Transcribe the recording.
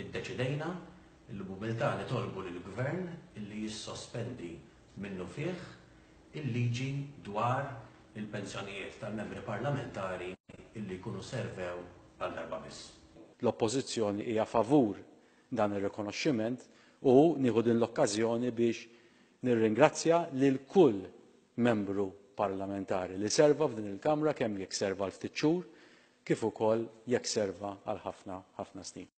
Iddeċidejna li b'umiltà nitolbu lill-Gvern illi jissospendi minnufih il-liġi dwar il-pensjonijiet tal-Membri Parlamentari illi jkunu servew għal darba biss. L-Oppożizzjoni hija favur dan ir-rikonoxximent u nieħu din l-okkażjoni biex nirringrazzja lil kull Membru Parlamentari li serva f'din il-Kamra kemm jekk serva għal ftit xhur kif ukoll jekk serva għal ħafna, ħafna snin.